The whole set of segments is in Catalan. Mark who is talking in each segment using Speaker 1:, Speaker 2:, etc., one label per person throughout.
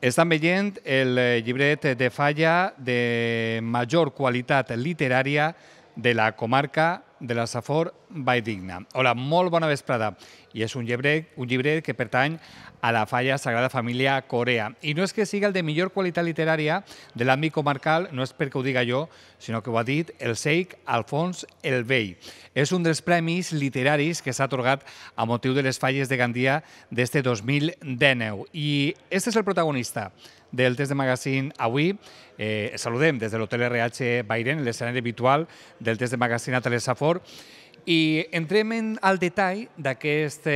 Speaker 1: Estan veient el llibret de Falla de major qualitat literària de la comarca de la Safor Valldigna. Hola, molt bona vesprada. I és un llibret que pertany a la Falla Sagrada Família Corea. I no és que sigui el de millor qualitat literària de l'àmbit comarcal, no és perquè ho diga jo, sinó que ho ha dit el Sheikh Alfons el Vell. És un dels premis literaris que s'ha atorgat a motiu de les falles de Gandia d'este 2019. I este és el protagonista del Test de Magazine avui. Saludem des de l'Hotel RH Bairen, l'escenari habitual del Test de Magazine a Telesafor, i entrem al detall d'aquest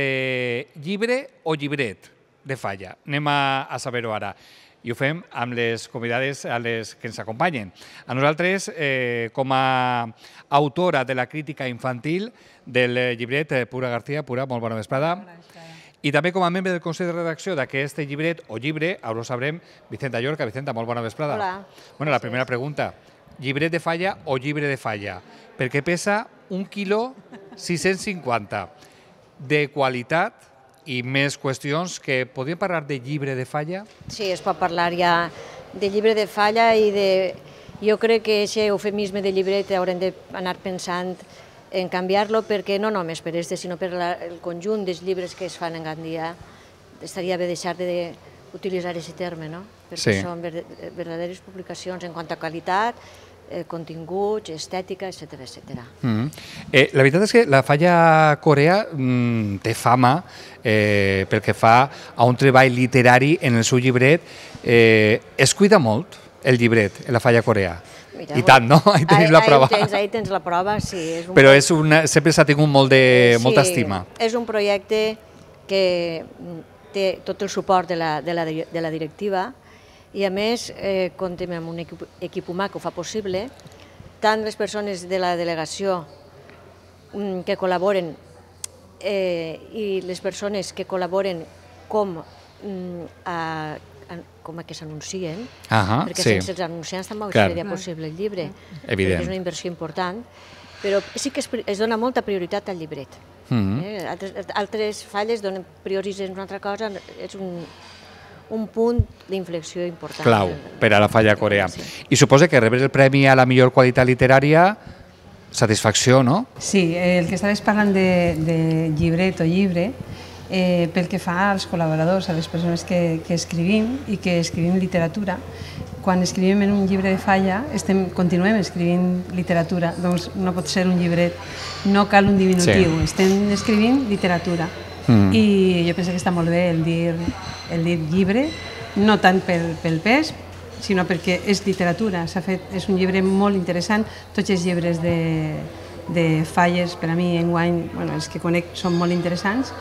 Speaker 1: llibre o llibret de Falla. Anem a saber-ho ara. I ho fem amb les convidades a les que ens acompanyen. A nosaltres, com a autora de la crítica infantil del llibret, Pura García. Pura, molt bona vesprada. I també com a membre del Consell de Redacció d'aquest llibret o llibre, ara ho sabrem, Vicenta Llorca. Vicenta, molt bona vesprada.
Speaker 2: Hola.
Speaker 1: Bueno, la primera pregunta, llibret de Falla o llibre de Falla? Perquè pesa 1 quilo 650 de qualitat i més qüestions que podríem parlar de llibre de Falla?
Speaker 2: Sí, es pot parlar ja de llibre de Falla i de... Jo crec que aquest eufemisme de llibret haurem d'anar pensant en canviar-lo perquè no només per este, sinó per el conjunt dels llibres que es fan en Gandia. Estaria bé deixar d'utilitzar aquest terme, no? Perquè són verdaderes publicacions en quant a qualitat, continguts, estètica, etc.
Speaker 1: La veritat és que la Falla Corea té fama pel que fa a un treball literari en el seu llibret. Es cuida molt el llibret en la Falla Corea. I tant, no? Ahí tenim la prova.
Speaker 2: Ahí tens la prova, sí.
Speaker 1: Però sempre s'ha tingut molta estima.
Speaker 2: És un projecte que té tot el suport de la directiva i a més comptem amb un equip humà que ho fa possible, tant les persones de la delegació que col·laboren i les persones que col·laboren com a que s'anuncien, perquè sense els anunciants tampoc seria possible el llibre, perquè és una inversió important, però sí que es dona molta prioritat al llibret. Altres falles donen prioritzen una altra cosa, és un punt d'inflexió important.
Speaker 1: Clau per a la Falla Corea. I suposa que rebre el premi a la millor qualitat literària, satisfacció, no?
Speaker 3: Sí, el que estaves parlant de llibret o llibre, pel que fa als col·laboradors, a les persones que escrivim i que escrivim literatura, quan escrivim en un llibre de Falla, continuem escrivint literatura, doncs no pot ser un llibret, no cal un diminutiu, estem escrivint literatura. I jo penso que està molt bé el dir llibre, no tant pel pes, sinó perquè és literatura, és un llibre molt interessant, tots els llibres de Falles, per a mi, enguany, els que conec són molt interessants,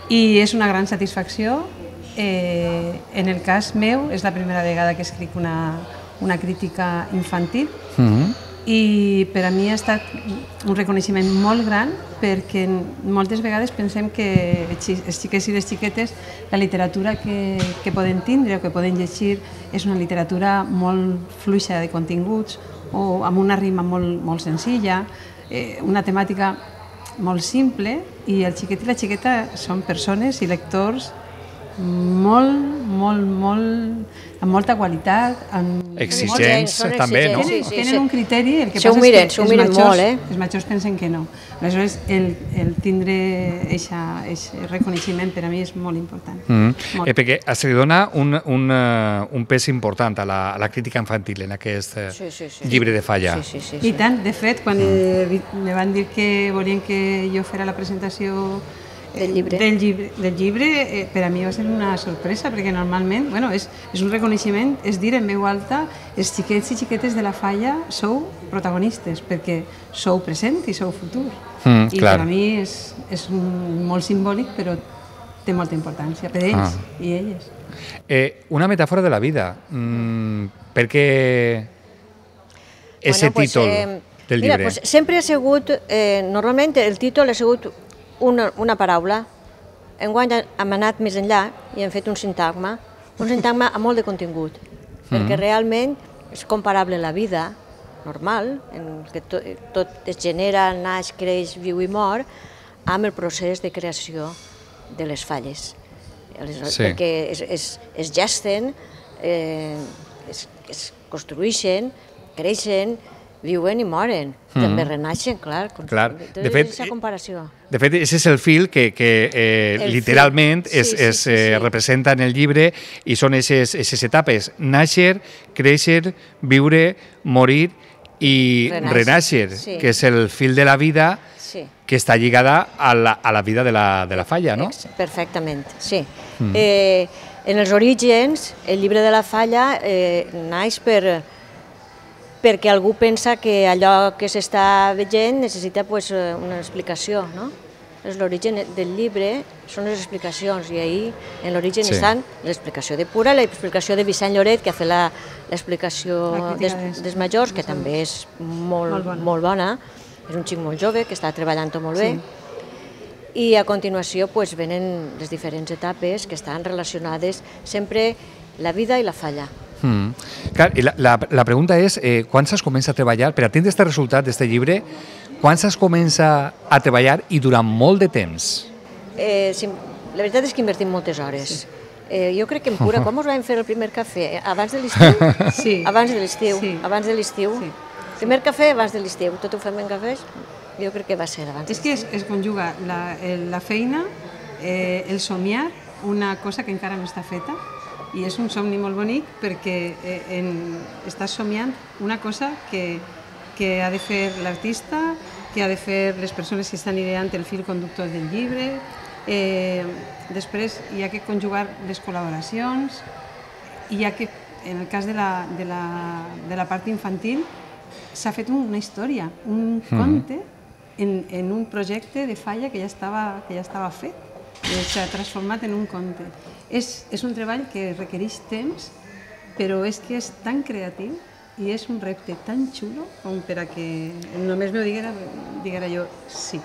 Speaker 3: i és una gran satisfacció. En el cas meu, és la primera vegada que escric una crítica infantil i per a mi ha estat un reconeixement molt gran perquè moltes vegades pensem que els xiquets i les xiquetes la literatura que poden tindre o que poden llegir és una literatura molt fluixa de continguts o amb una rima molt senzilla, una temàtica molt simple, i el xiquet i la xiqueta són persones i lectors amb molta qualitat,
Speaker 1: exigents també, no?
Speaker 3: Tenen un criteri, el que
Speaker 2: passa és que
Speaker 3: els majors pensen que no. Aleshores, el tindre aquest reconeixement per a mi és molt important.
Speaker 1: Perquè se li dona un pes important a la crítica infantil en aquest llibre de Falla.
Speaker 3: I tant, de fet, quan me van dir que volien que jo fera la presentació del llibre, per a mi va ser una sorpresa, perquè normalment és un reconeixement, és dir en veu alta, els xiquets i xiquetes de la Falla sou protagonistes, perquè sou present i sou futur. I per a mi és molt simbòlic, però té molta importància per ells i elles.
Speaker 1: Una metàfora de la vida, perquè aquest títol del llibre?
Speaker 2: Sempre ha sigut, normalment el títol ha sigut una paraula. Enguany hem anat més enllà i hem fet un sintagma amb molt de contingut, perquè realment és comparable a la vida normal, en què tot es genera, naix, creix, viu i mor, amb el procés de creació de les falles. Perquè es gesten es construeixen, creixen, viuen i moren. També renaixen, clar.
Speaker 1: De fet,
Speaker 2: aquesta comparació.
Speaker 1: De fet, aquest és el fil que literalment es representa en el llibre i són aquestes etapes. Nàixer, créixer, viure, morir i renaixer, que és el fil de la vida que està lligada a la vida de la Falla, no?
Speaker 2: Perfectament, sí. En els orígens, el llibre de la Falla naix perquè algú pensa que allò que s'està veient necessita una explicació, no? L'origen del llibre són les explicacions i ahir en l'origen estan l'explicació de Pura, l'explicació de Vicent Lloret, que ha fet l'explicació dels majors, que també és molt bona, és un xic molt jove que està treballant-ho molt bé, i a continuació venen les diferents etapes que estan relacionades sempre la vida i la Falla.
Speaker 1: Clar, i la pregunta és, quan s'es comença a treballar, per a tindre aquest resultat d'aquest llibre, quan s'es comença a treballar i durant molt de temps?
Speaker 2: La veritat és que invertim moltes hores. Jo crec que en Pura, com us vam fer el primer cafè? Abans de l'estiu?
Speaker 3: Sí.
Speaker 2: Abans de l'estiu. Primer cafè abans de l'estiu. Tot ho fem en cafès? Jo crec que va ser abans.
Speaker 3: És que es conjuga la feina, el somiar, una cosa que encara no està feta, i és un somni molt bonic perquè estàs somiant una cosa que ha de fer l'artista, que ha de fer les persones que estan ideant el fil conductor del llibre. Després hi ha que conjugar les col·laboracions, i en el cas de la part infantil s'ha fet una història, un conte en un projecte de Falla que ja estava fet, s'ha transformat en un conte. És un treball que requereix temps, però és que és tan creatiu i és un repte tan xulo com per a que només m'ho diguera jo sí.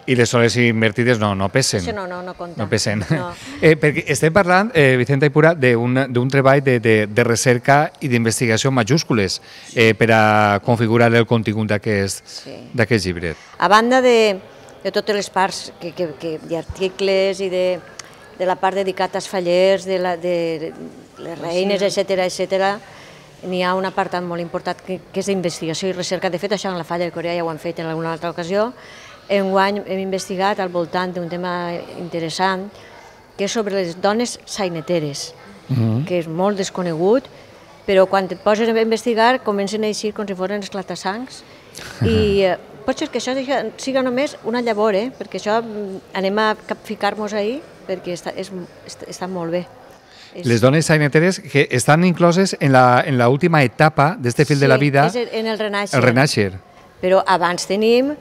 Speaker 1: I les hores invertides no pesen.
Speaker 2: Això no compta.
Speaker 1: No pesen. Perquè estem parlant, Vicenta i Pura, d'un treball de recerca i d'investigació majúscules per a configurar el contingut d'aquest llibret.
Speaker 2: A banda de totes les parts d'articles i de la part dedicada als fallers, de les reines, etc., n'hi ha un apartat molt important que és d'investigació i recerca. De fet, això en la Falla de Corea ja ho han fet en alguna altra ocasió. Enguany hem investigat al voltant d'un tema interessant, que és sobre les dones saineteres, que és molt desconegut, però quan et poses a investigar comencen a eixir com si foren esclatassancs, i pot ser que això siga només una llavor, perquè això anem a capficar-nos ahir, perquè està molt bé.
Speaker 1: Les dones saineteres que estan incloses en l'última etapa d'aquest fil de la vida,
Speaker 2: sí, és en el
Speaker 1: renaixer.
Speaker 2: Però abans tenim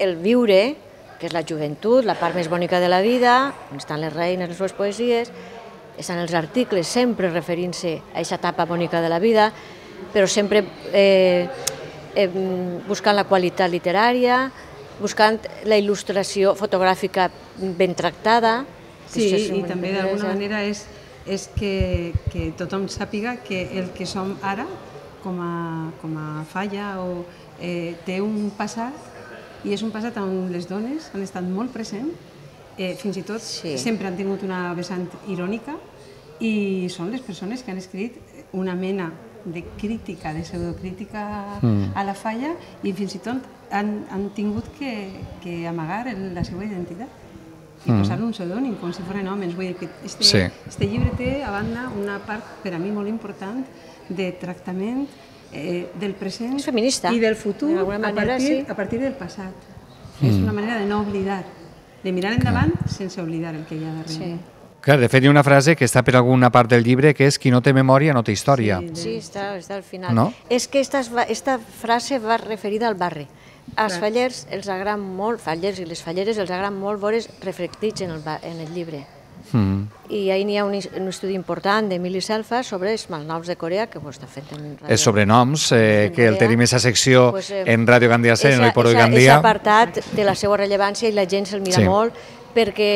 Speaker 2: el viure, que és la joventut, la part més bonica de la vida, on estan les reines, les seves poesies, estan els articles sempre referint-se a aquesta etapa bonica de la vida, però sempre buscant la qualitat literària, buscant la il·lustració fotogràfica ben tractada.
Speaker 3: Sí, i també d'alguna manera és que tothom sàpiga que el que som ara, com a Falla, té un passat, i és un passat on les dones han estat molt presents, fins i tot sempre han tingut una vessant irònica, i són les persones que han escrit una mena de crítica, de pseudocrítica a la Falla, i fins i tot han tingut que amagar la seva identitat i posar-li un pseudònim, com si foren homes. Vull dir que este llibre té, a banda, una part per a mi molt important de tractament del present i del futur a partir del passat. És una manera de no oblidar, de mirar endavant sense oblidar el que hi ha darrere.
Speaker 1: Clar, de fet, hi ha una frase que està per alguna part del llibre, que és qui no té memòria no té història.
Speaker 2: Sí, està al final. És que aquesta frase va referida al barri. Als fallers els agrada molt, fallers i les falleres els agrada molt veure's reflectits en el llibre. I ahir n'hi ha un estudi important d'Emili Selfa sobre els malnoms de Corea, que ho està fent en ràdio.
Speaker 1: Els sobrenoms, que el tenim aquesta secció en Ràdio Gandia 100, en l'Iporo de Gandia.
Speaker 2: És apartat de la seva rellevància i la gent se'l mira molt, perquè,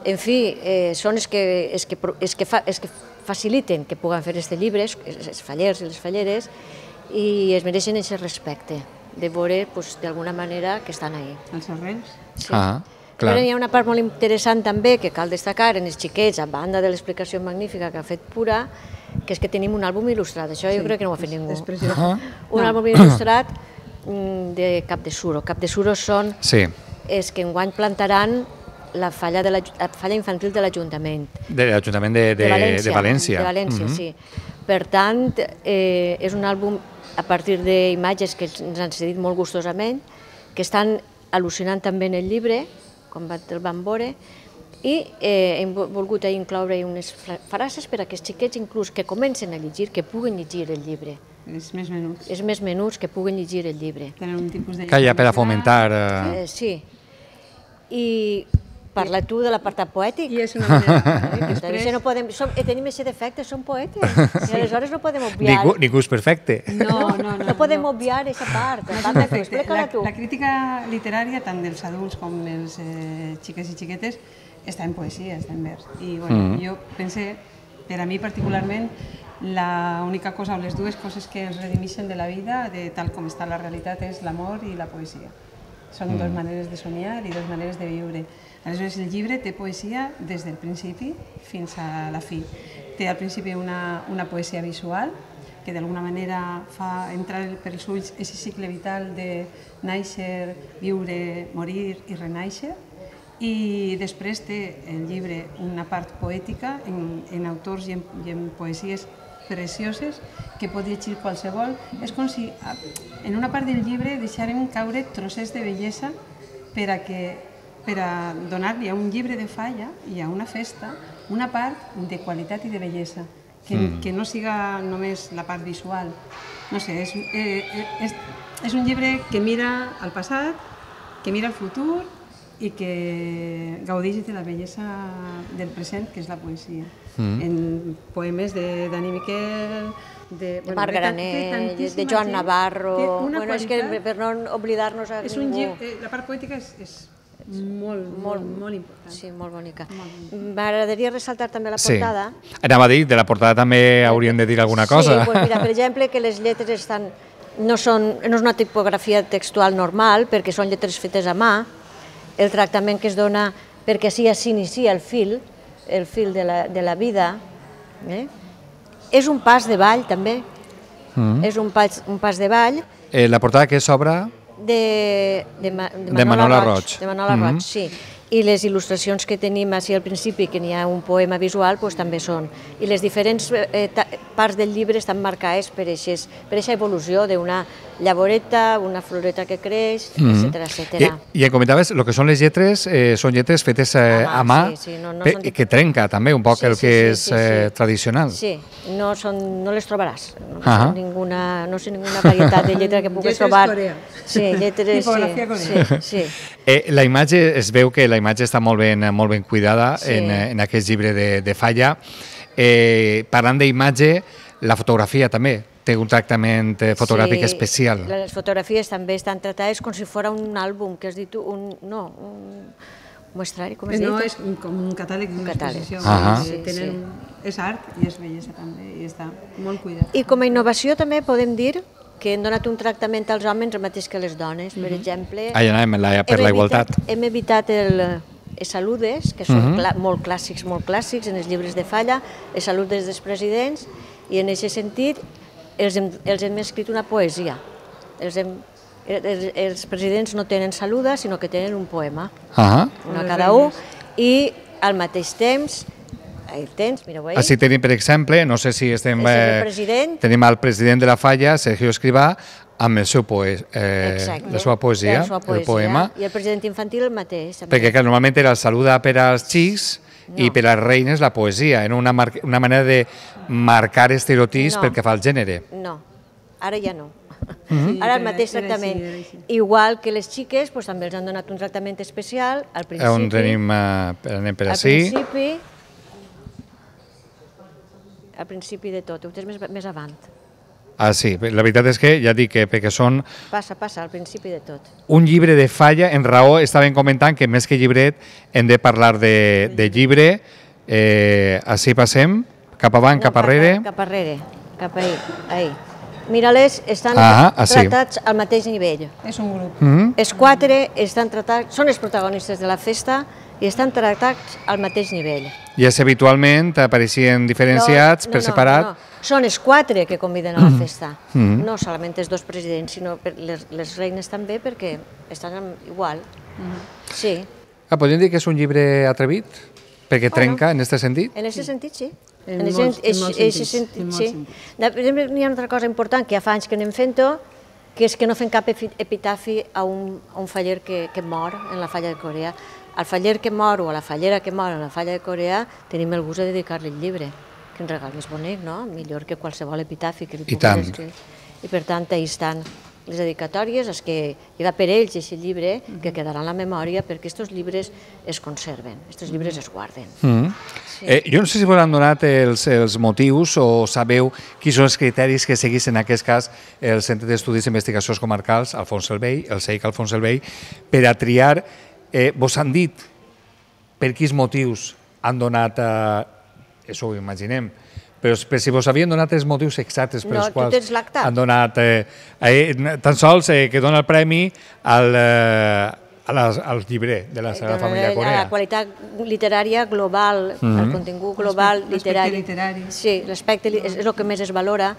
Speaker 2: en fi, són els que faciliten que puguen fer aquests llibres, els fallers i les falleres, i es mereixen aquest respecte de veure, d'alguna manera, que estan ahí.
Speaker 3: Els arrels?
Speaker 2: Sí.
Speaker 1: Clar.
Speaker 2: Però hi ha una part molt interessant també que cal destacar en els xiquets, a banda de l'explicació magnífica que ha fet Pura, que és que tenim un àlbum il·lustrat. Això jo crec que no ho ha fet ningú. Un àlbum il·lustrat de Cap de Suro. Cap de Suro són els que enguany plantaran la falla infantil de l'Ajuntament.
Speaker 1: De l'Ajuntament de València.
Speaker 2: De València, sí. Per tant, és un àlbum a partir d'imatges que ens han cedit molt gustosament, que estan al·lucinant també en el llibre, com el van veure, i hem volgut incloure unes frases per a aquests xiquets, inclús que comencen a llegir, que puguen llegir el llibre.
Speaker 3: És més menuts.
Speaker 2: És més menuts, que puguen llegir el llibre.
Speaker 3: Tenen un tipus de...
Speaker 1: Que hi ha per a fomentar...
Speaker 2: Sí. I parla tu de l'apartat poètic.
Speaker 3: I és una manera...
Speaker 2: Tenim aquest defecte, som poetes. I aleshores no podem obviar...
Speaker 1: Ningú és perfecte.
Speaker 2: No podem obviar aquesta part.
Speaker 3: La crítica literària, tant dels adults com dels xiques i xiquetes, està en poesia, està en vers. I jo pensé, per a mi particularment, l'única cosa o les dues coses que ens redimeixen de la vida, de tal com està la realitat, és l'amor i la poesia. Són dues maneres de somiar i dues maneres de viure. Aleshores, el llibre té poesia des del principi fins a la fi. Té al principi una poesia visual, que d'alguna manera fa entrar pels ulls aquest cicle vital de néixer, viure, morir i renéixer. I després té el llibre una part poètica en autors i en poesies precioses que pot llegir qualsevol. És com si en una part del llibre deixarem caure trossets de bellesa per a donar-li a un llibre de Falla i a una festa una part de qualitat i de bellesa, que no siga només la part visual. No sé, és un llibre que mira al passat, que mira al futur i que gaudeix de la bellesa del present, que és la poesia. En poemes de Dani Miquel,
Speaker 2: de Marc Granell, de Joan Navarro... És que per no oblidar-nos a ningú...
Speaker 3: La part poètica és molt important.
Speaker 2: Sí, molt bonica. M'agradaria ressaltar també la portada.
Speaker 1: Anava a dir, de la portada també hauríem de dir alguna cosa.
Speaker 2: Sí, mira, per exemple, que les lletres no és una tipografia textual normal, perquè són lletres fetes a mà, el tractament que es dona perquè així s'inicia el fil de la vida. És un pas de ball, també. És un pas de ball.
Speaker 1: La portada que s'obre...
Speaker 2: De Manola Roig. De Manola Roig, sí. I les il·lustracions que tenim així al principi, que n'hi ha un poema visual, també són. I les diferents parts del llibre estan marcades per aquesta evolució d'una llavoreta, una floreta que creix, etc.
Speaker 1: I em comentaves, el que són les lletres, són lletres fetes a mà, que trenca també un poc el que és tradicional.
Speaker 2: Sí, no les trobaràs. No sé ninguna varietat de lletra que puguis trobar.
Speaker 3: Lletres coreà.
Speaker 2: Sí.
Speaker 1: La imatge, es veu que la imatge està molt ben cuidada en aquest llibre de Falla. Parlant d'imatge, la fotografia també té un tractament fotogràfic especial.
Speaker 2: Les fotografies també estan tratades com si fos un àlbum, que has dit tu, un muestrari, com has dit?
Speaker 3: No, és com un catàleg d'una exposició. És art i és bellesa també, i està molt cuidat.
Speaker 2: I com a innovació també podem dir que hem donat un tractament als homes el mateix que a les dones. Per exemple,
Speaker 1: per la igualtat.
Speaker 2: Hem evitat els saludes, que són molt clàssics en els llibres de Falla, els saludes dels presidents, i en aquest sentit els hem escrit una poesia. Els presidents no tenen saluda, sinó que tenen un poema, una cada un, i al mateix temps
Speaker 1: Així tenim, per exemple, no sé si estem... Tenim el president de la Falla, Sergio Escrivá, amb la seva poesia, el poema.
Speaker 2: I el president infantil el mateix.
Speaker 1: Perquè normalment era el saluda per als xics i per a les reines la poesia, en una manera de marcar estereotips pel que fa al gènere.
Speaker 2: No, ara ja no. Ara el mateix tractament. Igual que les xiques, també els han donat un tractament especial al principi.
Speaker 1: On anem per ací.
Speaker 2: Al principi de tot, ho tens més avant.
Speaker 1: Sí, la veritat és que ja dic que perquè són...
Speaker 2: Passa, al principi de tot.
Speaker 1: Un llibre de Falla, en raó estaven comentant que més que llibret hem de parlar de llibre. Així passem, cap avant, cap arrere.
Speaker 2: Cap arrere, cap ahí. mira-les, estan tratats al mateix nivell.
Speaker 3: És un grup.
Speaker 2: Els 4 estan tratats, són els protagonistes de la festa i estan tractats al mateix nivell.
Speaker 1: I és habitualment apareixien diferenciats per separat?
Speaker 2: No. Són els 4 que conviden a la festa, no solament els 2 presidents, sinó les reines també, perquè estan igual. Sí.
Speaker 1: Podríem dir que és un llibre atrevit? Perquè trenca en aquest sentit?
Speaker 2: En aquest sentit, sí.
Speaker 3: En molts sentits, sí.
Speaker 2: N'hi ha una altra cosa important que ja fa anys que anem fent-ho, que és que no fem cap epitafi a un faller que mor en la falla de Corea. Al faller que mor o a la fallera que mor en la falla de Corea tenim el gust de dedicar-li el llibre. Quin regal més bonic, no? Millor que qualsevol epitafi que li puguis escriure. I per tant, ahí estan les dedicatòries, és que hi va per ells aquest llibre, que quedarà en la memòria, perquè aquests llibres es conserven, aquests llibres es guarden.
Speaker 1: Jo no sé si vos han donat els motius o sabeu quins són els criteris que seguís en aquest cas el Centre d'Estudis i Investigacions Comarcals, Alfons el Vell, el CEIC Alfons el Vell, per a triar. Vos han dit per quins motius han donat, això ho imaginem, però si vos havien donat els motius exactes pels quals han donat, tan sols que dona el premi al llibret de la Sagrada Família Corea.
Speaker 2: La qualitat literària global, el contingut global literari. Sí, l'aspecte és el que més es valora.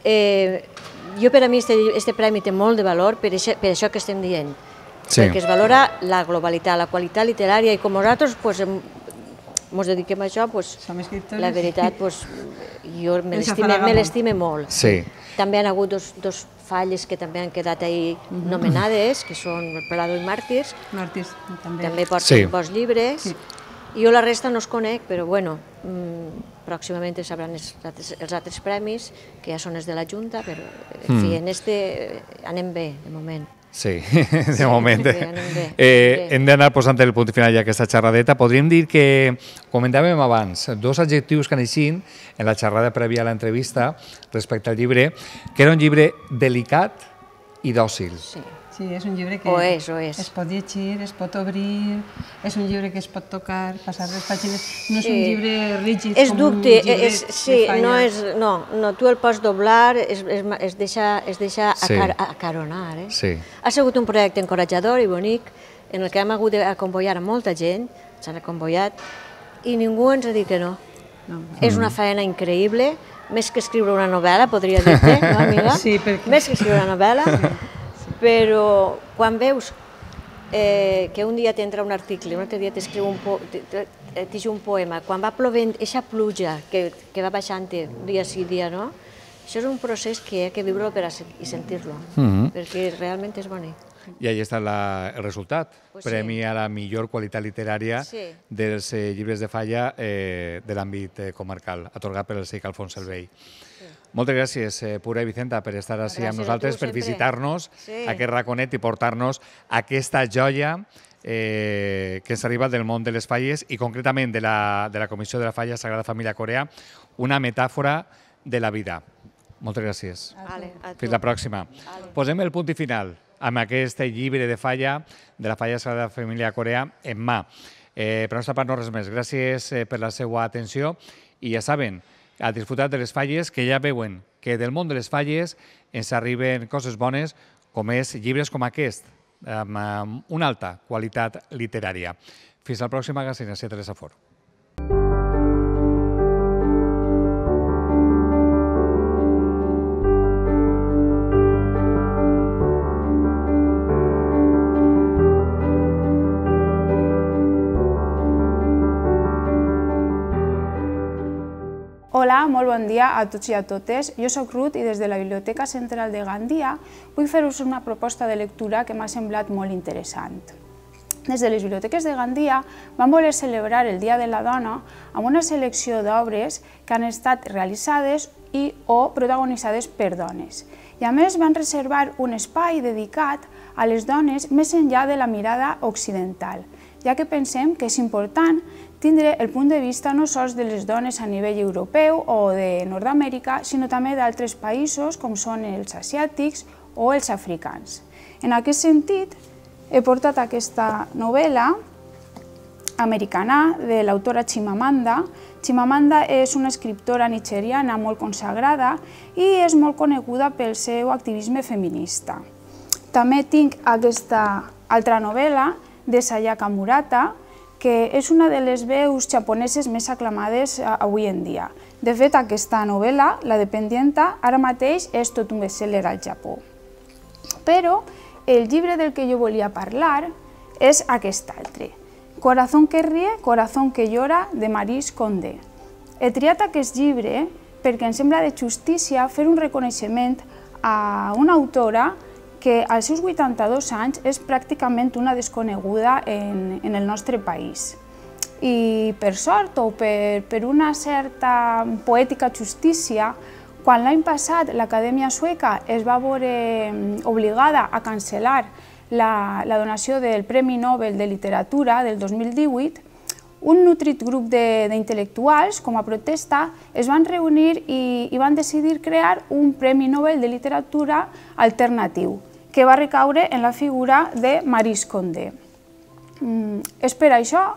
Speaker 2: Jo, per a mi, aquest premi té molt de valor per això que estem dient, perquè es valora la globalitat, la qualitat literària, i com nosaltres ens dediquem a això, la veritat, jo me l'estime molt. També han hagut dos falles que també han quedat ahí nomenades, que són el Prado i Màrtirs, també porten bons llibres. Jo la resta no els conec, però bueno, pròximament sabran els altres premis, que ja són els de la Junta, però en fi, en este anem bé, de moment.
Speaker 1: Sí, de moment. Hem d'anar posant el punt final ja aquesta xerradeta. Podríem dir que, comentàvem abans, 2 adjectius que neixin en la xerrada prèvia a l'entrevista respecte al llibre, que era un llibre delicat i dòcil.
Speaker 3: Sí, és un llibre que es pot llegir, es pot obrir, és un llibre que es pot tocar, passar les pàgines, no és un llibre rígid com un llibret de falla. No, tu el pots doblar, es deixa acaronar. Ha sigut un projecte encoratjador i bonic, en el que hem hagut d'aconvoiar a molta gent, s'han aconvoiat, i ningú ens ha dit que no. És una feina increïble, més que escriure una novel·la, podria dir-te, no, amiga? Sí, perquè...
Speaker 2: Més que escriure una novel·la. Però quan veus que un dia t'entra un article, un altre dia t'escriu un poema, quan va plovent aquesta pluja que va baixant dia sí, dia no, això és un procés que hi ha que viure-lo i sentir-lo, perquè realment és bonic.
Speaker 1: I ahí està el resultat, premi a la millor qualitat literària dels llibres de falla de l'àmbit comarcal, atorgat per el CEIC Alfons el Vell. Moltes gràcies, Pura i Vicenta, per estar així amb nosaltres, per visitar-nos aquest raconet i portar-nos aquesta joia que ens arriba del món de les falles i concretament de la Comissió de la Falla Sagrada Família Corea, una metàfora de la vida. Moltes gràcies. Fins la pròxima. Posem el punt i final amb aquest llibre de falla de la Falla Sagrada Família Corea en mà. Per la nostra part no res més. Gràcies per la seva atenció i ja saben, a disfrutar de les falles, que ja veuen que del món de les falles ens arriben coses bones, com és llibres com aquest, amb una alta qualitat literària. Fins al pròxim magazín, a 7 de Safor.
Speaker 4: Hola, molt bon dia a tots i a totes. Jo soc Ruth i des de la Biblioteca Central de Gandia vull fer-vos una proposta de lectura que m'ha semblat molt interessant. Des de les biblioteques de Gandia vam voler celebrar el Dia de la Dona amb una selecció d'obres que han estat realitzades o protagonitzades per dones. I a més van reservar un espai dedicat a les dones més enllà de la mirada occidental, ja que pensem que és important tindre el punt de vista no sols de les dones a nivell europeu o de Nord-Amèrica, sinó també d'altres països com són els asiàtics o els africans. En aquest sentit, he portat aquesta novel·la americana de l'autora Chimamanda. Chimamanda és una escriptora nigeriana molt consagrada i és molt coneguda pel seu activisme feminista. També tinc aquesta altra novel·la de Sayaka Murata, que és una de les veus japoneses més aclamades avui en dia. De fet, aquesta novel·la, La dependienta, ara mateix és tot un best-seller al Japó. Però el llibre del que jo volia parlar és aquest altre, Corazón que ríe, corazón que llora, de Maryse Condé. He triat aquest llibre perquè em sembla de justícia fer un reconeixement a una autora que als seus 82 anys és pràcticament una desconeguda en el nostre país. I per sort o per una certa poètica justícia, quan l'any passat l'Acadèmia Sueca es va veure obligada a cancel·lar la donació del Premi Nobel de Literatura del 2018, un nutrit grup d'intel·lectuals, com a protesta, es van reunir i van decidir crear un Premi Nobel de Literatura alternatiu, que va recaure en la figura de Maryse Condé. És per això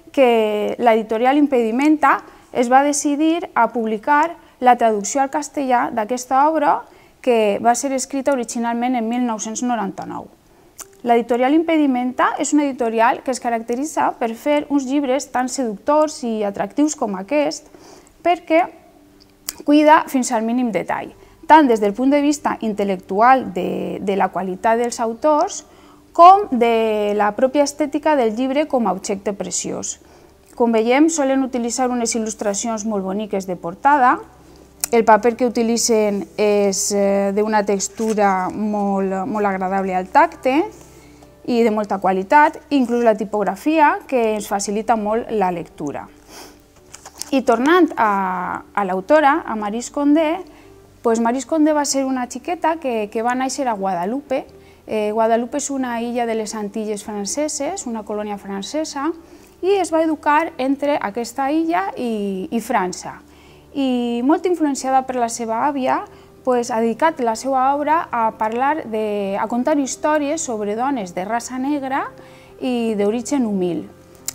Speaker 4: que l'editorial Impedimenta es va decidir a publicar la traducció al castellà d'aquesta obra, que va ser escrita originalment en 1999. L'editorial Impedimenta és una editorial que es caracteritza per fer uns llibres tan seductors i atractius com aquest, perquè cuida fins al mínim detall, tant des del punt de vista intel·lectual de la qualitat dels autors, com de la pròpia estètica del llibre com a objecte preciós. Com veiem, solen utilitzar unes il·lustracions molt boniques de portada. El paper que utilitzen és d'una textura molt agradable al tacte i de molta qualitat, inclús la tipografia, que ens facilita molt la lectura. I tornant a l'autora, a Maryse Condé, Maryse Condé va ser una xiqueta que va néixer a Guadalupe. Guadalupe és una illa de les Antilles franceses, una colònia francesa, i es va educar entre aquesta illa i França. I molt influenciada per la seva àvia, ha dedicat la seva obra a contar històries sobre dones de raça negra i d'origen humil.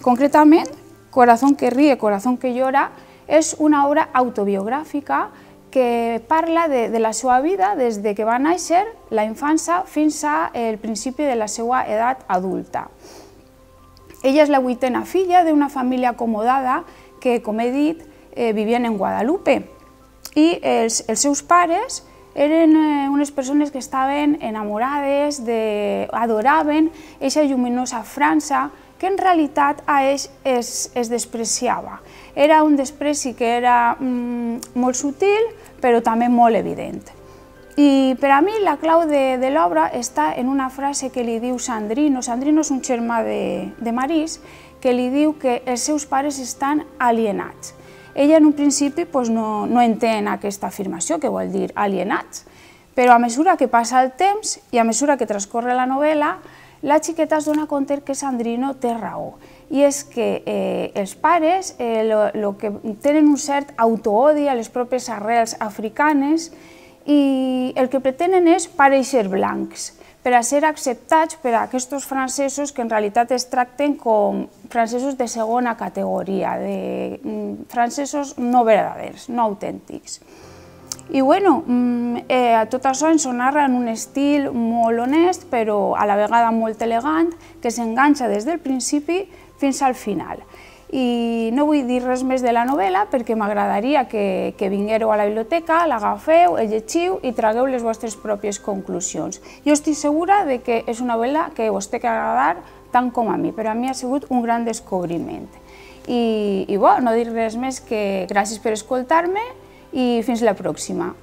Speaker 4: Concretament, Corazón que ríe, corazón que llora és una obra autobiogràfica que parla de la seva vida des que va néixer, la infància, fins al principi de la seva edat adulta. Ella és la 8a filla d'una família acomodada que, com he dit, vivien en Guadalupe. I els seus pares eren unes persones que estaven enamorades, adoraven aquesta lluminosa França, que en realitat a ells es despreciava. Era un despreci que era molt sutil, però també molt evident. I per a mi la clau de l'obra està en una frase que li diu Sandrino. Sandrino és un germà de Maryse, que li diu que els seus pares estan alienats. Ella en un principi no entén aquesta afirmació, que vol dir alienats, però a mesura que passa el temps i a mesura que transcorre la novel·la, la xiqueta es dona compte que Sandrino té raó. I és que els pares tenen un cert autoodi a les pròpies arrels africanes i el que pretenen és parèixer blancs, per a ser acceptats per a aquests francesos que en realitat es tracten com francesos de segona categoria, de francesos no verdaders, no autèntics. I tot això ens ho narra en un estil molt honest, però a la vegada molt elegant, que s'enganxa des del principi fins al final. I no vull dir res més de la novel·la perquè m'agradaria que vinguéreu a la biblioteca, l'agafeu, el llegiu i tragueu les vostres pròpies conclusions. Jo estic segura que és una novel·la que us té que agradar tant com a mi, però a mi ha sigut un gran descobriment. I no dir res més que gràcies per escoltar-me i fins la pròxima.